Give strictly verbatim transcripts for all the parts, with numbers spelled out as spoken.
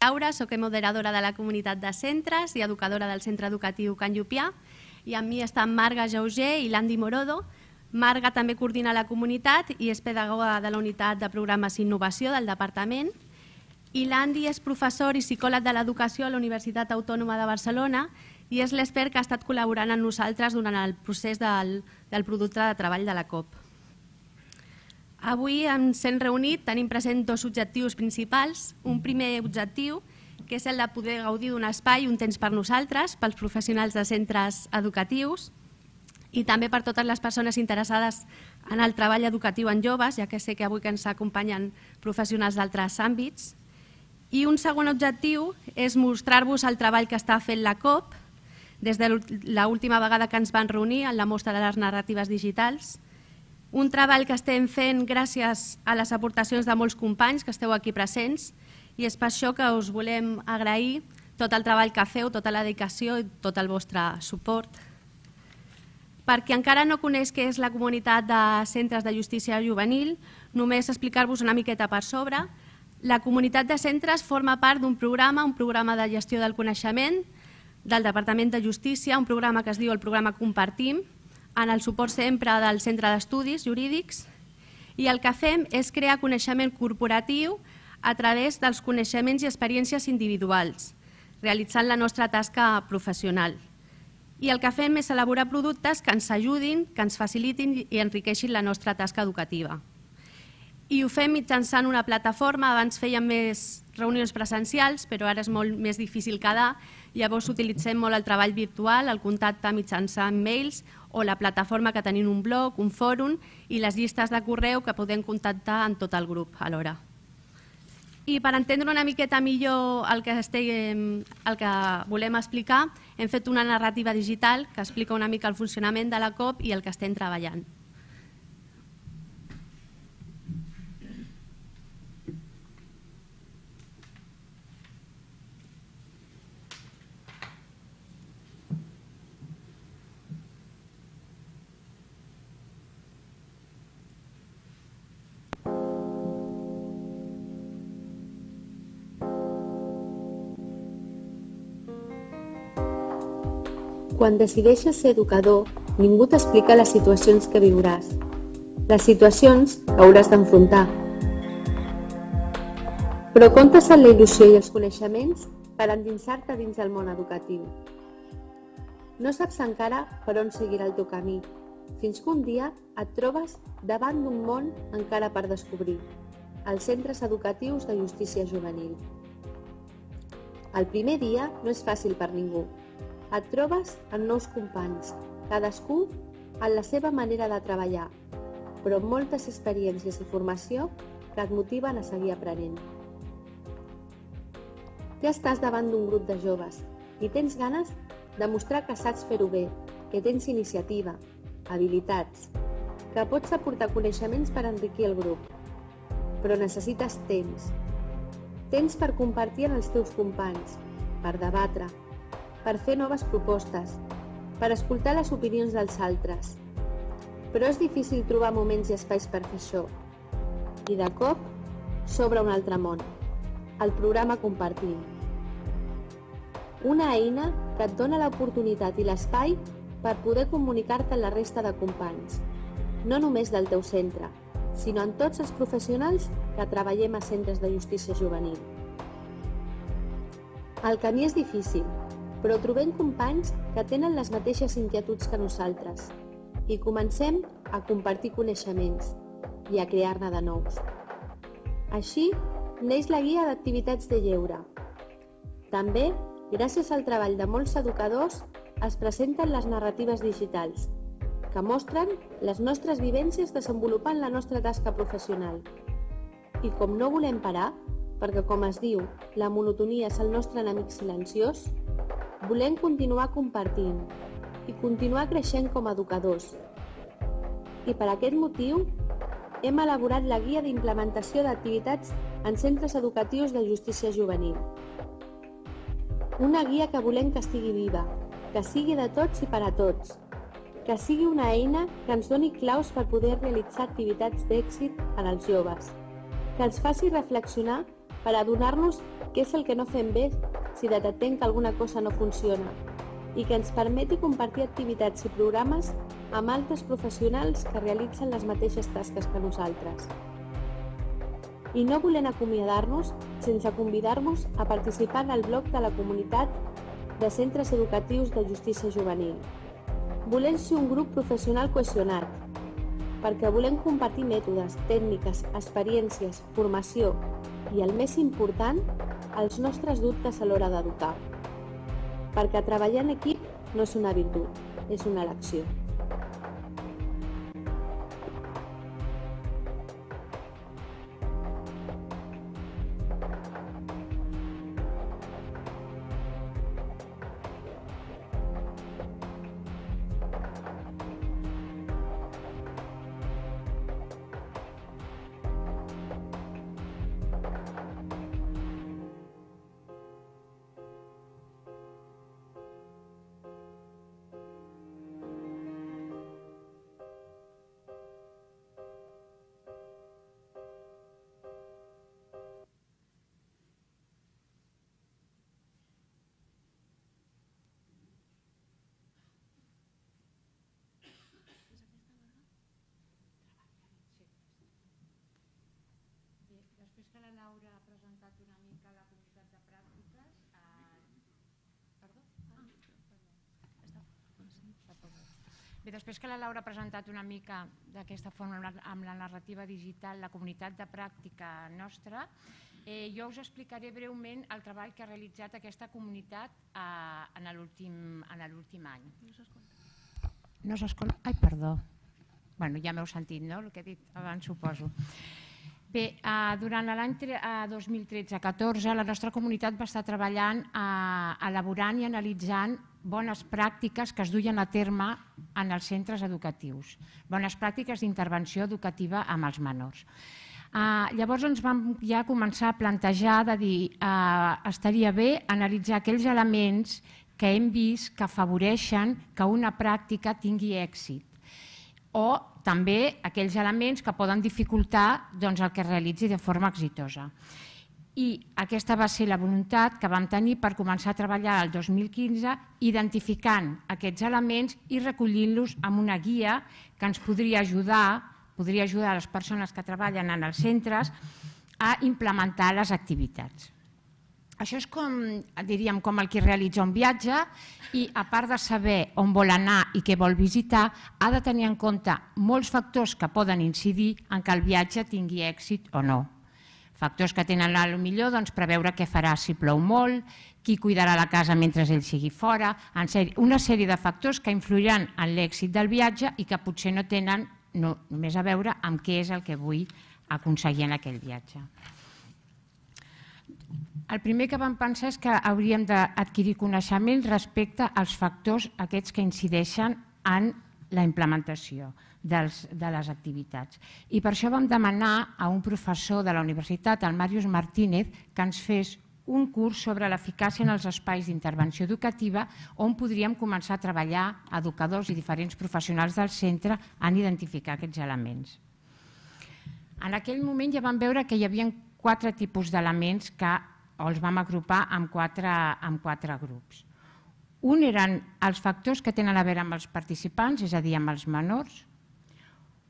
Laura, soc moderadora de la comunitat de centres i educadora del centre educatiu Can Llupià, i amb mi estan Marga Jauger i l'Andy Morodo. Marga també coordina la comunitat i és pedagoga de la unitat de programes i innovació del departament, i l'Andy és professor i psicòleg de l'educació a la Universitat Autònoma de Barcelona i és l'expert que ha estat col·laborant amb nosaltres durant el procés del, del producte de treball de la C O P. Avui ens hem reunit, tenim present dos objectius principals. Un primer objectiu, que és el de poder gaudir d'un espai, un temps per nosaltres, pels professionals de centres educatius i també per totes les persones interessades en el treball educatiu en joves, ja que sé que avui que ens acompanyen professionals d'altres àmbits. I un segon objectiu és mostrar-vos el treball que està fent la C O P des de l'última vegada que ens van reunir en la mostra de les narratives digitals. Un treball que estem fent gràcies a les aportacions de molts companys que esteu aquí presents i és per això que us volem agrair tot el treball que feu, tota la dedicació i tot el vostre suport. Per qui encara no coneix què és la comunitat de centres de justícia juvenil, només explicar-vos una miqueta per sobre. La comunitat de centres forma part d'un programa, un programa de gestió del coneixement del Departament de Justícia, un programa que es diu el programa Compartim, en el suport sempre del Centre d'Estudis Jurídics, i el que fem és crear coneixement corporatiu a través dels coneixements i experiències individuals, realitzant la nostra tasca professional. I el que fem és elaborar productes que ens ajudin, que ens facilitin i enriqueixin la nostra tasca educativa. I ho fem mitjançant una plataforma. Abans fèiem més reunions presencials, però ara és molt més difícil quedar. Llavors utilitzem molt el treball virtual, el contacte mitjançant mails o la plataforma que tenim un blog, un fòrum i les llistes de correu que podem contactar en tot el grup alhora. I per entendre una miqueta millor el que, estem, el que volem explicar, hem fet una narrativa digital que explica una mica el funcionament de la C O P i el que estem treballant. Quan decideixes ser educador, ningú t'explica les situacions que viuràs, les situacions que hauràs d'enfrontar. Però comptes amb la il·lusió i els coneixements per endinsar-te dins del món educatiu. No saps encara per on seguirà el teu camí, fins que un dia et trobes davant d'un món encara per descobrir, els centres educatius de justícia juvenil. El primer dia no és fàcil per ningú. Et trobes amb nous companys, cadascú en la seva manera de treballar, però amb moltes experiències i formació que et motiven a seguir aprenent. Ja estàs davant d'un grup de joves i tens ganes de mostrar que saps fer-ho bé, que tens iniciativa, habilitats, que pots aportar coneixements per enriquir el grup, però necessites temps. Temps per compartir amb els teus companys, per debatre, per fer noves propostes, per escoltar les opinions dels altres. Però és difícil trobar moments i espais per fer això. I de cop s'obre un altre món, el programa Compartim. Una eina que et dona l'oportunitat i l'espai per poder comunicar-te amb la resta de companys, no només del teu centre, sinó en tots els professionals que treballem a centres de justícia juvenil. El camí és difícil, però trobem companys que tenen les mateixes inquietuds que nosaltres i comencem a compartir coneixements i a crear-ne de nous. Així neix la guia d'activitats de lleure. També, gràcies al treball de molts educadors, es presenten les narratives digitals, que mostren les nostres vivències desenvolupant la nostra tasca professional. I com no volem parar, perquè com es diu, la monotonia és el nostre enemic silenciós, volem continuar compartint i continuar creixent com a educadors. I per aquest motiu hem elaborat la guia d'implementació d'activitats en centres educatius de justícia juvenil. Una guia que volem que estigui viva, que sigui de tots i per a tots, que sigui una eina que ens doni claus per poder realitzar activitats d'èxit en els joves, que ens faci reflexionar per adonar-nos què és el que no fem bé si detectem que alguna cosa no funciona i que ens permeti compartir activitats i programes amb altres professionals que realitzen les mateixes tasques que nosaltres. I no volem acomiadar-nos sense convidar-vos a participar en el blog de la comunitat de centres educatius de justícia juvenil. Volem ser un grup professional cohesionat, perquè volem compartir mètodes, tècniques, experiències, formació i, el més important, els nostres dubtes a l'hora d'educar. Perquè treballar en equip no és una virtut, és una elecció. Després que la Laura ha presentat una mica la comunitat de pràctiques... Perdó? Bé, després que la Laura ha presentat una mica d'aquesta forma amb la narrativa digital la comunitat de pràctica nostra, jo us explicaré breument el treball que ha realitzat aquesta comunitat en l'últim any. No s'escolta. No s'escolta? Ai, perdó. Bé, ja m'heu sentit, no?, el que he dit abans, suposo. Bé, durant l'any dos mil tretze catorze la nostra comunitat va estar treballant, elaborant i analitzant bones pràctiques que es duien a terme en els centres educatius, bones pràctiques d'intervenció educativa amb els menors. Llavors ens vam ja començar a plantejar de dir estaria bé analitzar aquells elements que hem vist que afavoreixen que una pràctica tingui èxit o també aquells elements que poden dificultar el que es realitzi de forma exitosa. I aquesta va ser la voluntat que vam tenir per començar a treballar el dos mil quinze identificant aquests elements i recollint-los amb una guia que ens podria ajudar, podria ajudar a les persones que treballen en els centres a implementar les activitats. Això és com, diríem, com el que realitza un viatge i, a part de saber on vol anar i què vol visitar, ha de tenir en compte molts factors que poden incidir en que el viatge tingui èxit o no. Factors que tenen potser preveure què farà si plou molt, qui cuidarà la casa mentre ell sigui fora, una sèrie de factors que influiran en l'èxit del viatge i que potser no tenen només a veure amb què és el que vull aconseguir en aquell viatge. El primer que vam pensar és que hauríem d'adquirir coneixements respecte als factors aquests que incideixen en la implementació de les activitats. I per això vam demanar a un professor de la universitat, el Màrius Martínez, que ens fes un curs sobre l'eficàcia en els espais d'intervenció educativa on podríem començar a treballar educadors i diferents professionals del centre en identificar aquests elements. En aquell moment ja vam veure que hi havia quatre tipus d'elements que els vam agrupar en quatre grups. Un eren els factors que tenen a veure amb els participants, és a dir, amb els menors.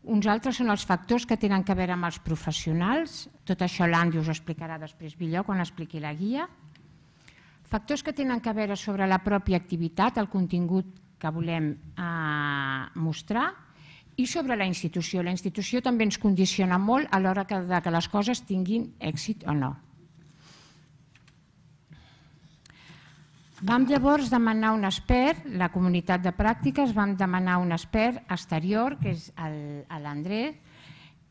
Uns altres són els factors que tenen a veure amb els professionals. Tot això l'Andy us ho explicarà després millor quan expliqui la guia. Factors que tenen a veure sobre la pròpia activitat, el contingut que volem mostrar, i sobre la institució. La institució també ens condiciona molt a l'hora que les coses tinguin èxit o no. Vam llavors demanar un expert, la comunitat de pràctiques, vam demanar un expert exterior, que és l'Andrés,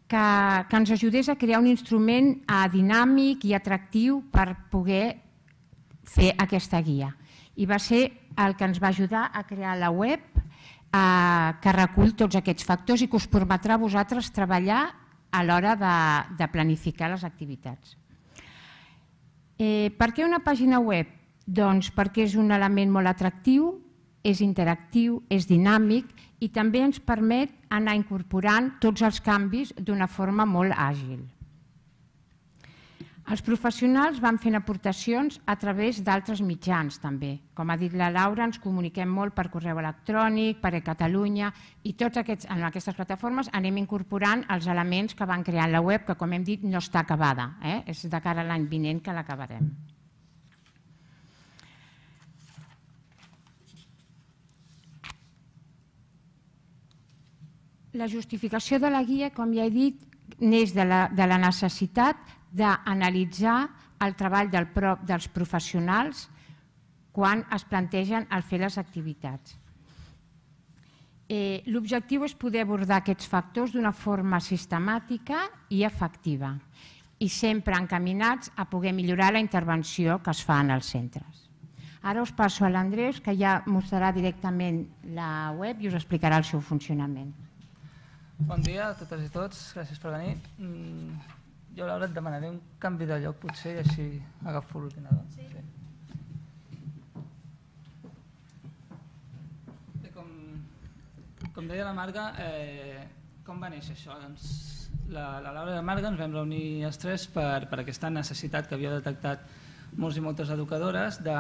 que ens ajudés a crear un instrument dinàmic i atractiu per poder fer aquesta guia. I va ser el que ens va ajudar a crear la web que recull tots aquests factors i que us permetrà a vosaltres treballar a l'hora de planificar les activitats. Per què una pàgina web? Doncs perquè és un element molt atractiu, és interactiu, és dinàmic i també ens permet anar incorporant tots els canvis d'una forma molt àgil. Els professionals van fent aportacions a través d'altres mitjans també. Com ha dit la Laura, ens comuniquem molt per correu electrònic, per eCatalunya, i tots aquests, en aquestes plataformes anem incorporant els elements que van creant la web, que com hem dit no està acabada, eh? És de cara a l'any vinent que l'acabarem. La justificació de la guia, com ja he dit, neix de la, de la necessitat d'analitzar el treball del, dels professionals quan es plantegen el fer les activitats. Eh, L'objectiu és poder abordar aquests factors d'una forma sistemàtica i efectiva i sempre encaminats a poder millorar la intervenció que es fa en els centres. Ara us passo a l'Andreus, que ja mostrarà directament la web i us explicarà el seu funcionament. Bon dia a totes i tots, gràcies per venir. Jo, Laura, et demanaré un canvi de lloc, potser, i així agafo l'ordinador. Sí. Sí. Com, com deia la Marga, eh, com va néixer això? Doncs la, la Laura i la Marga ens vam reunir els tres per, per aquesta necessitat que havia detectat molts i moltes educadores de,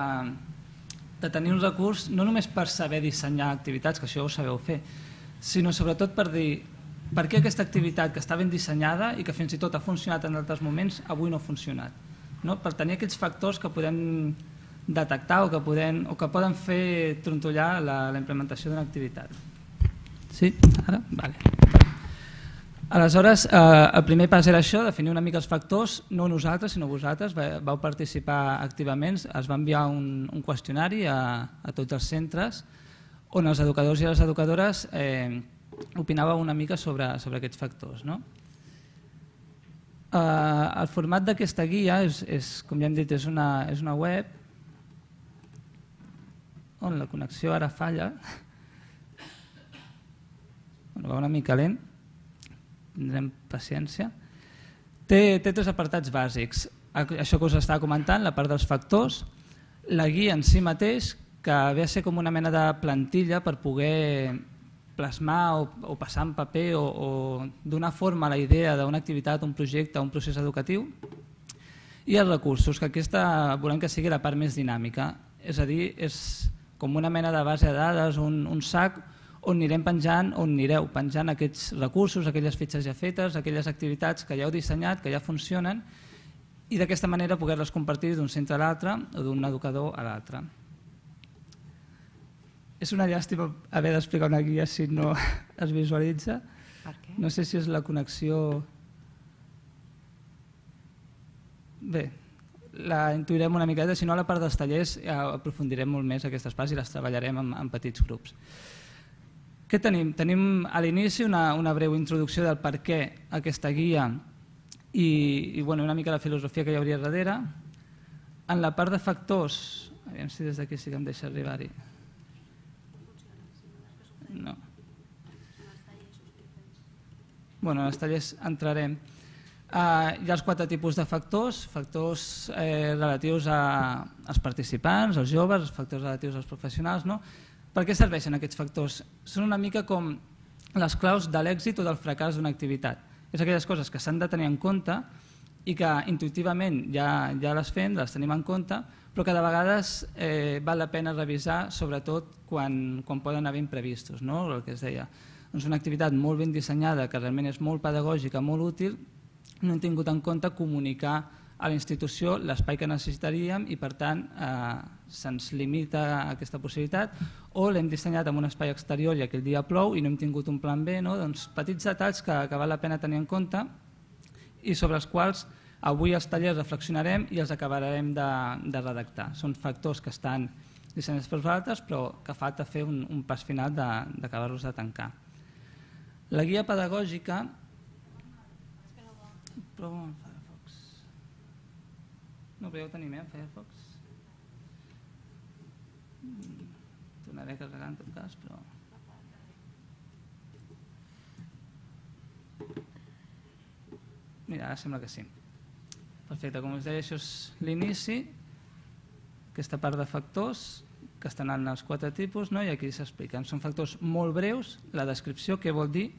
de tenir un recurs no només per saber dissenyar activitats, que això ho sabeu fer, sinó sobretot per dir per què aquesta activitat que està ben dissenyada i que fins i tot ha funcionat en altres moments avui no ha funcionat. No? Per tenir aquests factors que podem detectar o que poden, o que poden fer trontollar la, la implementació d'una activitat. Sí? Ara? Vale. Aleshores, eh, el primer pas era això, definir una mica els factors, no nosaltres, sinó vosaltres, vau participar activament, es va enviar un, un qüestionari a, a tots els centres on els educadors i les educadores eh, opinàveu una mica sobre, sobre aquests factors. No? Eh, el format d'aquesta guia, és, és, com ja hem dit, és una, és una web on la connexió ara falla. Bueno, va una mica lent, tindrem paciència. Té, té tres apartats bàsics. Això que us estava comentant, la part dels factors, la guia en si mateix, que ve a ser com una mena de plantilla per poder plasmar o, o passar en paper o, o donar forma a la idea d'una activitat, un projecte, un procés educatiu, i els recursos, que aquesta volem que sigui la part més dinàmica. És a dir, és com una mena de base de dades, un, un sac on anirem penjant, on anireu penjant aquests recursos, aquelles fitxes ja fetes, aquelles activitats que ja heu dissenyat, que ja funcionen, i d'aquesta manera poder-les compartir d'un centre a l'altre o d'un educador a l'altre. És una llàstima haver d'explicar una guia si no es visualitza. Per què? No sé si és la connexió... Bé, la intuirem una miqueta, si no a la part dels tallers ja aprofundirem molt més aquestes parts i les treballarem en, en petits grups. Què tenim? Tenim a l'inici una, una breu introducció del per què aquesta guia i, i bueno, una mica la filosofia que hi hauria darrere. En la part de factors, aviam si des d'aquí sí que em deixa arribar-hi. No. Bueno, en els tallers entrarem. Uh, hi ha els quatre tipus de factors, factors eh, relatius a, als participants, als joves, els factors relatius als professionals. No? Per què serveixen aquests factors? Són una mica com les claus de l'èxit o del fracàs d'una activitat. És aquelles coses que s'han de tenir en compte i que intuïtivament ja, ja les fem, les tenim en compte, però que de vegades eh, val la pena revisar, sobretot quan, quan poden haver imprevistos. No? El que es deia, doncs una activitat molt ben dissenyada, que realment és molt pedagògica, molt útil, no hem tingut en compte comunicar a la institució l'espai que necessitaríem i per tant eh, se'ns limita aquesta possibilitat, o l'hem dissenyat en un espai exterior i aquell dia plou i no hem tingut un plan B. No? Doncs petits detalls que, que val la pena tenir en compte i sobre els quals avui els tallers reflexionarem i els acabarem de, de redactar. Són factors que estan dissenyats per vosaltres, però que falta fer un, un pas final d'acabar-los de, de tancar. La guia pedagògica... Provo amb Firefox. No, però ja ho tenim, eh, en Firefox. Tornaré a carregar en tot cas, però... Mira, ara sembla que sí. Perfecte, com us deia, això és l'inici, aquesta part de factors que estan en els quatre tipus, no? I aquí s'expliquen. Són factors molt breus, la descripció, què vol dir,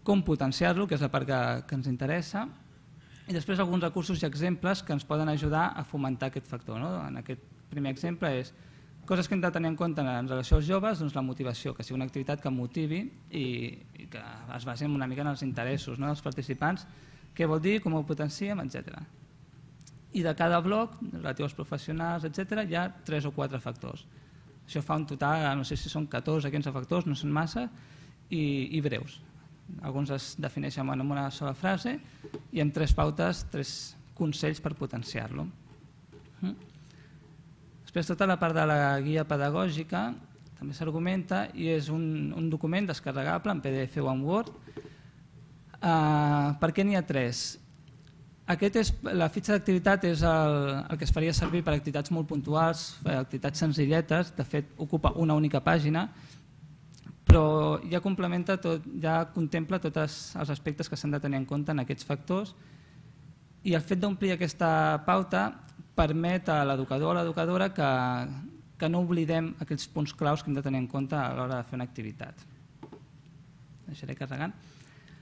com potenciar-lo, que és la part que, que ens interessa, i després alguns recursos i exemples que ens poden ajudar a fomentar aquest factor. En aquest primer exemple és coses que hem de tenir en compte en relació als joves, doncs la motivació, que sigui una activitat que motivi i que es basi una mica en els interessos dels participants, què vol dir, com ho potenciem, etcètera. I de cada bloc, relatiu als professionals, etcètera, hi ha tres o quatre factors. Això fa un total, no sé si són catorze o quinze factors, no són massa, i breus. Alguns es defineixen en una sola frase i amb tres pautes, tres consells per potenciar-lo. Després, tota la part de la guia pedagògica també s'argumenta i és un document descarregable en P D F o en Word. Per què n'hi ha tres? La fitxa d'activitat és el que es faria servir per activitats molt puntuals, activitats senzilletes, de fet ocupa una única pàgina, però ja complementa tot, ja contempla tots els aspectes que s'han de tenir en compte en aquests factors i el fet d'omplir aquesta pauta permet a l'educador o l'educadora que no oblidem aquells punts claus que hem de tenir en compte a l'hora de fer una activitat. Deixaré carregant.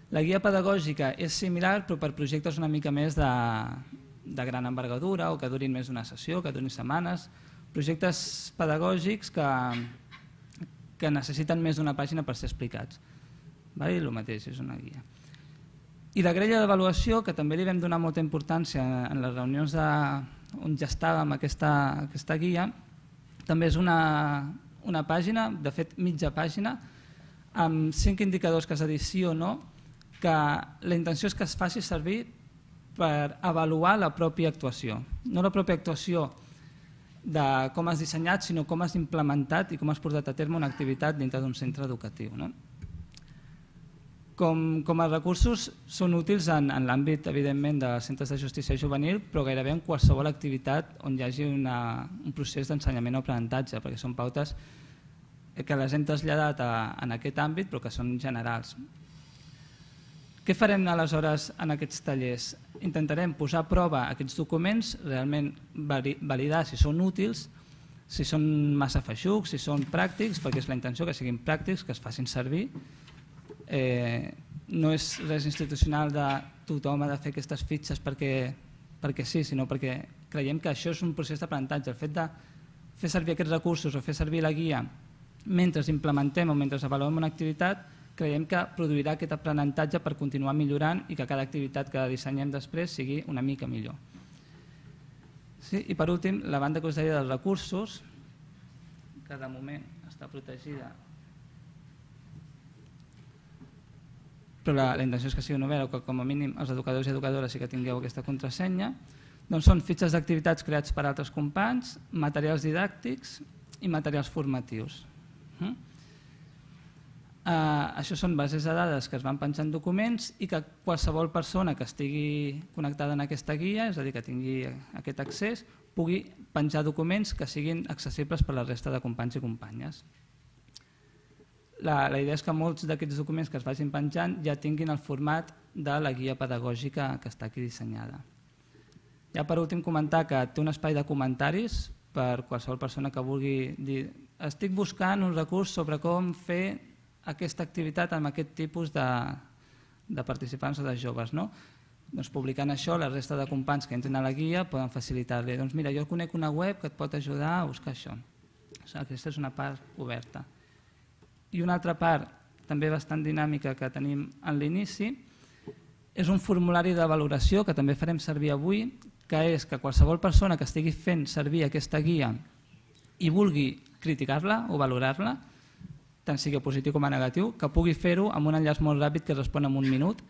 La guia pedagògica és similar però per projectes una mica més de gran envergadura o que durin més d'una sessió, que durin setmanes, projectes pedagògics que necessiten més d'una pàgina per ser explicats. El mateix, és una guia. I la grella d'avaluació, que també li vam donar molta importància en les reunions on ja estàvem aquesta guia, també és una pàgina, de fet mitja pàgina, amb cinc indicadors que és de dir sí o no, que la intenció és que es faci servir per avaluar la pròpia actuació. No la pròpia actuació de com has dissenyat, sinó com has implementat i com has portat a terme una activitat dintre d'un centre educatiu. Com a recursos són útils en l'àmbit, evidentment, de centres de justícia juvenil, però gairebé en qualsevol activitat on hi hagi un procés d'ensenyament o aprenentatge, perquè són pautes que les hem traslladat en aquest àmbit, però que són generals. Què farem aleshores en aquests tallers? Intentarem posar a prova aquests documents, realment validar si són útils, si són massa feixucs, si són pràctics, perquè és la intenció que siguin pràctics, que es facin servir. No és res institucional de tothom ha de fer aquestes fitxes perquè sí, sinó perquè creiem que això és un procés d'aprenentatge. El fet de fer servir aquests recursos o fer servir la guia mentre implementem o mentre avaluem una activitat, creiem que produirà aquest aprenentatge per continuar millorant i que cada activitat que dissenyem després sigui una mica millor. I per últim, la banda que us deia dels recursos, que de moment està protegida, però la intenció és que sigui una oberta o que com a mínim els educadors i educadores sí que tingueu aquesta contrasenya, doncs són fitxes d'activitats creats per altres companys, materials didàctics i materials formatius. Això són bases de dades que es van penjant documents i que qualsevol persona que estigui connectada en aquesta guia, és a dir, que tingui aquest accés, pugui penjar documents que siguin accessibles per la resta de companys i companyes. La idea és que molts d'aquests documents que es vagin penjant ja tinguin el format de la guia pedagògica que està aquí dissenyada. Ja per últim comentar que té un espai de comentaris per qualsevol persona que vulgui dir estic buscant un recurs sobre com fer aquesta activitat amb aquest tipus de participants o de joves. Doncs publicant això, la resta de companys que entren a la guia poden facilitar-li. Doncs mira, jo conec una web que et pot ajudar a buscar això. Aquesta és una part oberta. I una altra part, també bastant dinàmica, que tenim en l'inici, és un formulari de valoració que també farem servir avui, que és que qualsevol persona que estigui fent servir aquesta guia i vulgui criticar-la o valorar-la, tant sigui positiu com a negatiu, que pugui fer-ho amb un enllaç molt ràpid que respon en un minut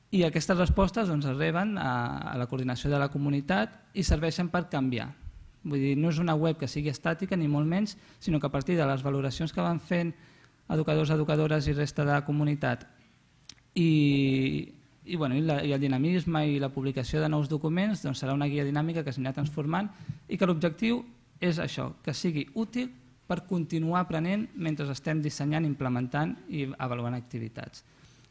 i aquestes respostes es reben a la coordinació de la comunitat i serveixen per canviar. Vull dir, no és una web que sigui estàtica ni molt menys, sinó que a partir de les valoracions que van fent educadors, educadores i resta de la comunitat i el dinamisme i la publicació de nous documents, serà una guia dinàmica que s'anirà transformant i que l'objectiu és això, que sigui útil per continuar aprenent mentre estem dissenyant, implementant i avaluant activitats.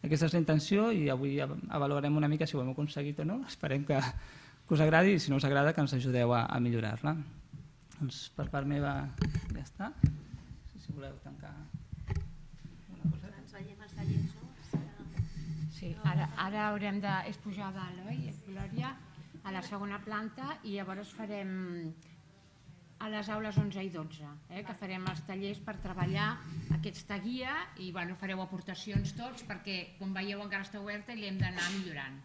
Aquesta és la intenció i avui avaluarem una mica si ho hem aconseguit o no. Esperem que us agradi i si no us agrada que ens ajudeu a millorar-la. Doncs per part meva ja està. Si voleu tancar una cosa. Ens veiem als tallers, no? Sí. Ara haurem de... és pujar a dalt, oi, Glòria? A la segona planta, i llavors farem a les aules onze i dotze, que farem els tallers per treballar aquesta guia i fareu aportacions tots perquè, com veieu, encara està oberta i l'hem d'anar millorant.